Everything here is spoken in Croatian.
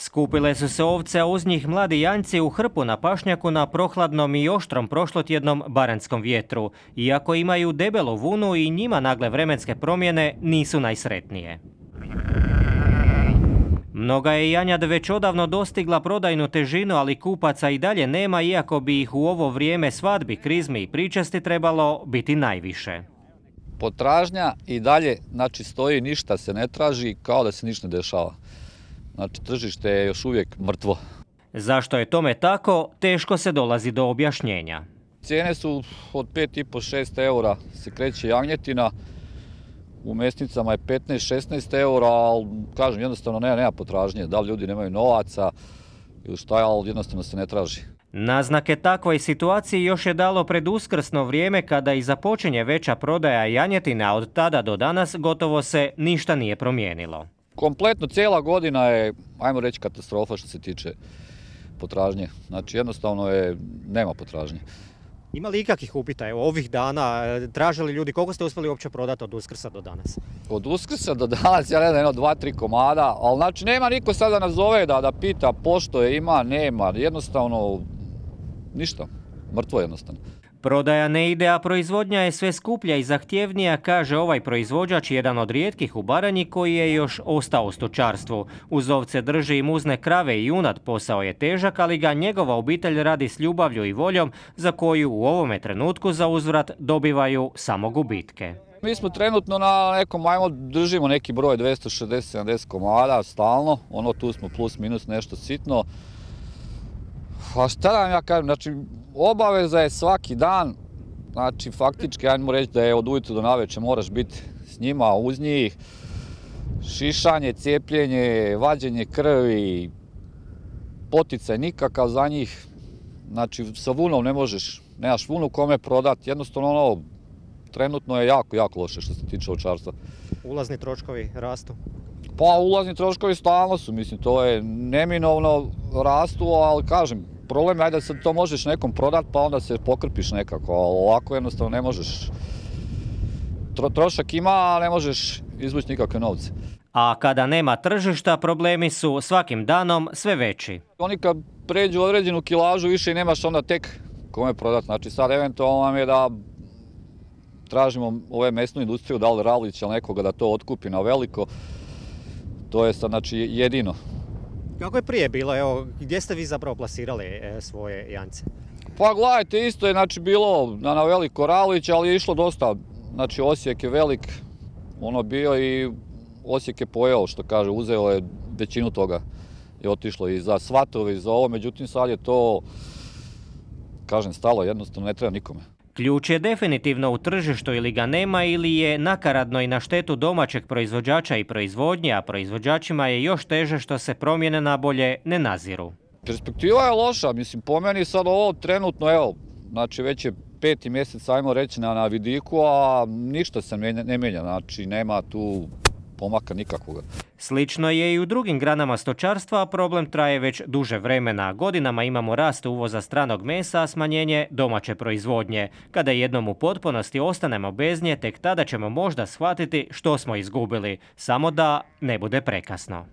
Skupile su se ovce, a uz njih mladi janjci u hrpu na pašnjaku na prohladnom i oštrom prošlotjednom baranjskom vjetru. Iako imaju debelu vunu i njima nagle vremenske promjene nisu najsretnije. Mnoga je janjad već odavno dostigla prodajnu težinu, ali kupaca i dalje nema, iako bi ih u ovo vrijeme svadbi, krizmi i pričasti trebalo biti najviše. Potražnja i dalje stoji, ništa se ne traži, kao da se ništa ne dešava. Tržište je još uvijek mrtvo. Zašto je tome tako, teško se dolazi do objašnjenja. Cijene su od 5,5-6 eura se kreće jagnjetina, u mesnicama je 15-16 eura, ali kažem jednostavno nema potražnje. Da li ljudi nemaju novaca ili šta, ali jednostavno se ne traži. Naznake takvoj situaciji još je dalo pred uskrsno vrijeme kada i započinje veća prodaja janjetine, a od tada do danas gotovo se ništa nije promijenilo. Kompletno cijela godina je, ajmo reći, katastrofa što se tiče potražnje. Jednostavno nema potražnje. Ima li ikakvih upita ovih dana? Tražili ljudi, koliko ste uspjeli uopće prodati od Uskrsa do danas? Od Uskrsa do danas, ja ne znam, 2-3 komada, ali nema niko sada nas zove da pita pošto je ima, nema, jednostavno ništa, mrtvo jednostavno. Prodaja ne ide, a proizvodnja je sve skuplja i zahtjevnija, kaže ovaj proizvođač, jedan od rijetkih u Baranji koji je još ostao u stočarstvu. Uz ovce drži i muzne krave i junad, posao je težak, ali ga njegova obitelj radi s ljubavlju i voljom, za koju u ovome trenutku za uzvrat dobivaju samo gubitke. Mi smo trenutno na nekom, držimo neki broj 260-70 komada stalno, tu smo plus minus nešto sitno. A šta da vam ja kažem, obaveza je svaki dan, faktički, ajmo reći da je od ujutro do navečer moraš biti s njima, uz njih, šišanje, cijepljenje, vađenje krvi, poticaj nikakav za njih, sa vunom ne možeš, nemaš vunu kome prodati, jednostavno trenutno je jako loše što se tiče ovčarstva. Ulazni troškovi rastu? Pa ulazni troškovi stalno su, to je neminovno rastu, ali kažem, problem je da se to možeš nekom prodati pa onda se pokrpiš nekako, ali ovako jednostavno ne možeš. Trošak ima, a ne možeš izvući nikakve novce. A kada nema tržišta, problemi su svakim danom sve veći. Oni kad pređu određenu kilažu više i nemaš onda tek kome prodati. Sad eventualno nam je da tražimo ove mesnu industriju, da li Ravlića ili nekoga da to otkupi na veliko. To je sad jedino. Kako je prije bilo? Gdje ste vi zapravo plasirali svoje janjce? Pa gledajte, isto je bilo na veliko Ravlić, ali je išlo dosta. Osijek je velik, bio i Osijek je pojeo, što kaže, uzeo je većinu toga. Je otišlo i za svatove i za ovo, međutim sad je to, kažem, stalo, jednostavno ne treba nikome. Ključ je definitivno u tržištu, ili ga nema ili je nakaradno i na štetu domaćeg proizvođača i proizvodnje, a proizvođačima je još teže što se promjene na bolje ne naziru. Perspektiva je loša, po meni sad ovo trenutno, već je 5. mjesec, ajmo reći, na vidiku, a ništa se ne mijenja, nema tu pomaka nikakvoga. Slično je i u drugim granama stočarstva, a problem traje već duže vremena. Godinama imamo rast uvoza stranog mesa, a smanjenje domaće proizvodnje. Kada jednom u potpunosti ostanemo bez nje, tek tada ćemo možda shvatiti što smo izgubili, samo da ne bude prekasno.